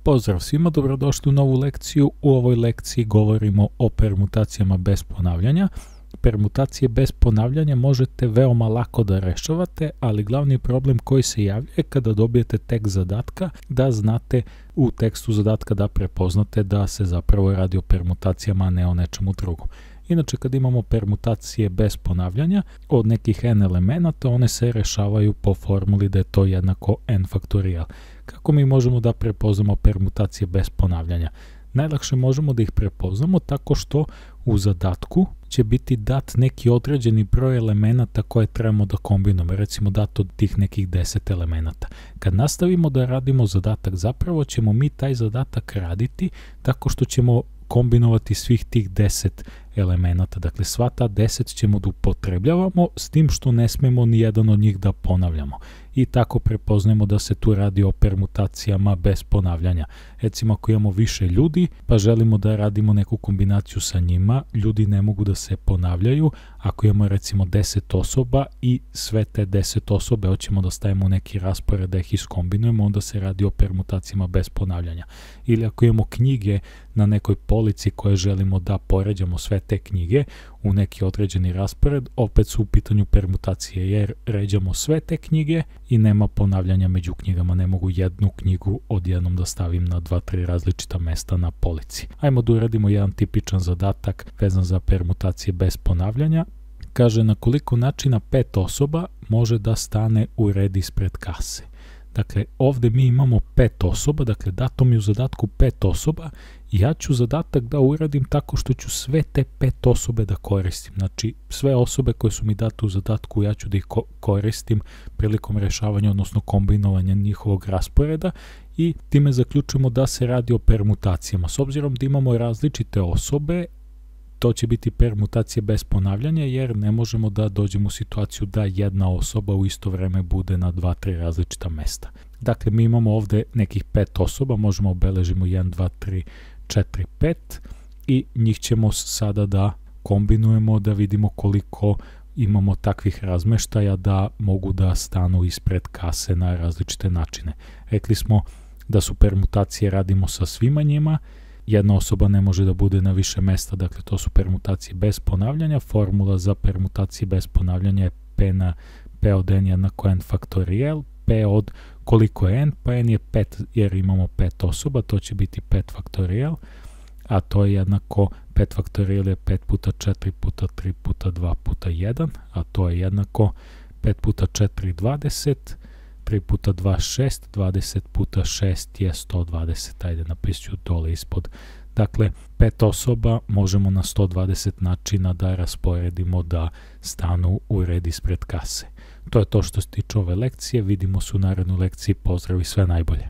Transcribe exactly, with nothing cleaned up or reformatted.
Pozdrav svima, dobrodošli u novu lekciju. U ovoj lekciji govorimo o permutacijama bez ponavljanja. Permutacije bez ponavljanja možete veoma lako da rešavate, ali glavni problem koji se javlja je kada dobijete tekst zadatka, da znate u tekstu zadatka da prepoznate da se zapravo radi o permutacijama, a ne o nečemu drugom. Inače, kad imamo permutacije bez ponavljanja od nekih n elemenata, one se rešavaju po formuli da je to jednako n faktorijal. Kako mi možemo da prepoznamo permutacije bez ponavljanja? Najlakše možemo da ih prepoznamo tako što u zadatku će biti dat neki određeni broj elemenata koje trebamo da kombinujemo, recimo dat od tih nekih deset elemenata. Kad nastavimo da radimo zadatak, zapravo ćemo mi taj zadatak raditi tako što ćemo kombinovati svih tih deset elemenata. Dakle, sva ta deset ćemo da upotrebljavamo, s tim što ne smemo ni jedan od njih da ponavljamo. I tako prepoznajemo da se tu radi o permutacijama bez ponavljanja. Recimo, ako imamo više ljudi, pa želimo da radimo neku kombinaciju sa njima, ljudi ne mogu da se ponavljaju. Ako imamo recimo deset osoba i sve te deset osobe hoćemo da stavimo u neki raspored da ih iskombinujemo, onda se radi o permutacijama bez ponavljanja. Ili ako imamo knjige na nekoj polici koje želimo da poređamo sve te knjige u neki određeni raspored, opet su u pitanju permutacije, jer ređamo sve te knjige i nema ponavljanja među knjigama, ne mogu jednu knjigu odjednom da stavim na dva, tri različita mesta na polici. Ajmo da uradimo jedan tipičan zadatak vezan za permutacije bez ponavljanja. Kaže, na koliko načina pet osoba može da stane u red ispred kase. Dakle, ovde mi imamo pet osoba, dakle dato mi u zadatku pet osoba i ja ću zadatak da uradim tako što ću sve te pet osobe da koristim. Znači, sve osobe koje su mi date u zadatku ja ću da ih ko koristim prilikom rešavanja, odnosno kombinovanja njihovog rasporeda i time zaključujemo da se radi o permutacijama. S obzirom da imamo različite osobe, to će biti permutacije bez ponavljanja, jer ne možemo da dođemo u situaciju da jedna osoba u isto vreme bude na dva, tri različita mesta. Dakle, mi imamo ovde nekih pet osoba, možemo obeležimo jedan, dva, tri, četiri, pet i njih ćemo sada da kombinujemo, da vidimo koliko imamo takvih razmeštaja da mogu da stanu ispred kase na različite načine. Rekli smo da su permutacije radimo sa svima njima. Jedna osoba ne može da bude na više mesta, dakle to su permutacije bez ponavljanja. Formula za permutacije bez ponavljanja je P, na, P od n jednako n faktorijal, P od koliko je n, pa n je pet jer imamo pet osoba, to će biti pet faktorijal, a to je jednako pet faktorijal je pet puta četiri puta tri puta dva puta jedan, a to je jednako pet puta četiri dvadeset, tri puta dva šest, dvadeset puta šest je sto dvadeset, ajde napisat ću dole ispod. Dakle, pet osoba možemo na sto dvadeset načina da rasporedimo da stanu u red ispred kase. To je to što se tiče ove lekcije, vidimo se u narednoj lekciji, pozdrav i sve najbolje.